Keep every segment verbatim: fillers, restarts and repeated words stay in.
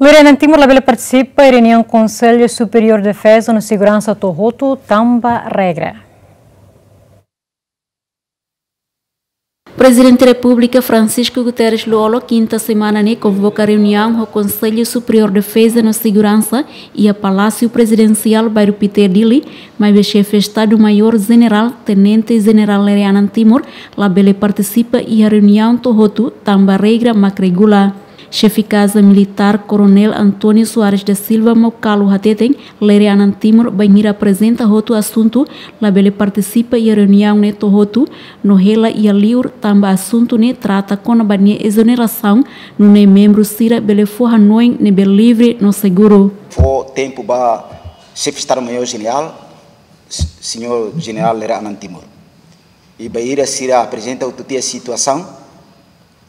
Lere Anan Timur labele partisipa iha reuniaun Konsellu Superiór Defeza no Seguransa to'o hotu tanba regra. Prezidente Repúblika Francisco Guterres Lú-Olo kinta semana ne'e konvoka reuniaun ho Konsellu Superiór Defeza no Seguransa iha Palásiu Prezidensiál, Bairru Pité, Dili, maibé Xefe Estadu Maiór Jenerál, Tenente Jenerál Lere Anan Timur, labele partisipa iha reuniaun to'o hotu tanba regra mak regula. Xefe Kaza Militár Koronél António Soares da Silva Maucalo hateten, Lere Anan Timur bainhira aprezenta hotu asuntu, labele partisipa iha reuniaun ne'e to'o hotu, no hela iha liur tanba asuntu ne'e trata kona-ba nia ezonerasaun, nune'e membru sira bele fó hanoin ne'ebé livre no seguru. Fó tempu ba Xefe Estadu Maiór Jenerál, S-, Señór Jenerál Lere Anan Timur. I bainhira sira aprezenta hotu tiha situasaun,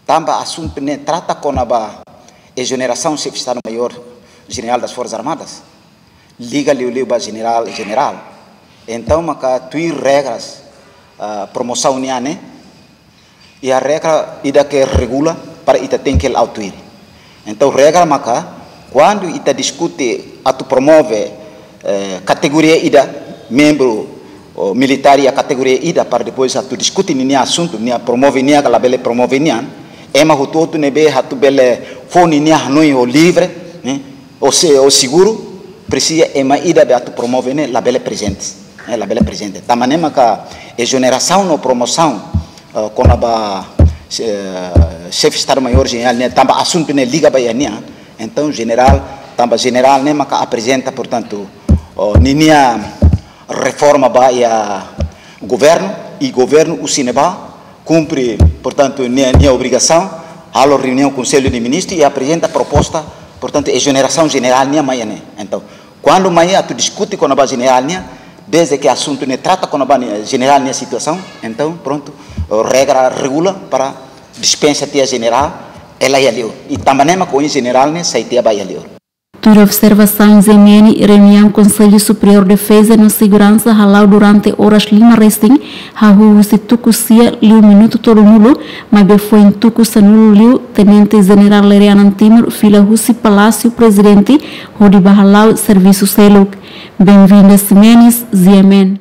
tanba asuntu ne'e trata kona-ba ezonerasaun Xefe Estadu Maiór Jenerál das Forças Armadas, liga liuliu ba jenerál, jenerál. Entaun, maka tuir regras, ah, promosaun nian ne'e, iha regra ida ke regula para ita tenke la'o tuir. Entaun, regra maka, kuandu ita diskute atu promove, eh, kategoria ida, membru, ou militár iha kategoria ida, para depois atu diskute ninia asuntu, nia promove nia ka labele promove nian, ema hotu-hotu ne'ebé atu bele fó ninia hanoin ho livre, ne'e, ou se-, ou seguru, presiza ema ida be atu promove ne'e labele prezente, eh, labele prezente. Tanba ne'e maka ezonerasaun no promosaun, eh, kona-ba, eh, Xefe Estadu Maiór Jenerál ne'e, tanba asuntu ne'e liga ba iha nia. Entaun, jenerál, tanba jenerál ne'e maka aprezenta, portantu, oh, ninia reforma ba iha governu, i governu husi ne'ebá kumpre, portantu, nia, nia obrigasaun, halo reuniaun Konsellu de Ministru i aprezenta proposta, portantu, ezonerasaun jenerál nian mai iha ne'e. Entaun, kuandu mai atu diskute kona-ba jenerál nian, desde ke asuntu ne'e trata kona-ba nia, jenerál nia situasaun, entaun, prontu, regra regula para dispensa tiha jenerál, hela iha liur. I tanba ne'e mak ohin jenerál ne'e sai tiha ba iha liur. Tuir observasaun G M N, reuniaun Konsellu Superiór Defeza no Seguransa hala'o durante oras lima resin, hahú husi tuku sia liu minutu tolunulu, maibé foin tuku sanulu liu, Tenente Jenerál Lere Anan Timur fila husi Palásiu Prezidente hodi bá hala'o servisu seluk. Benvinda Ximenes, G M N.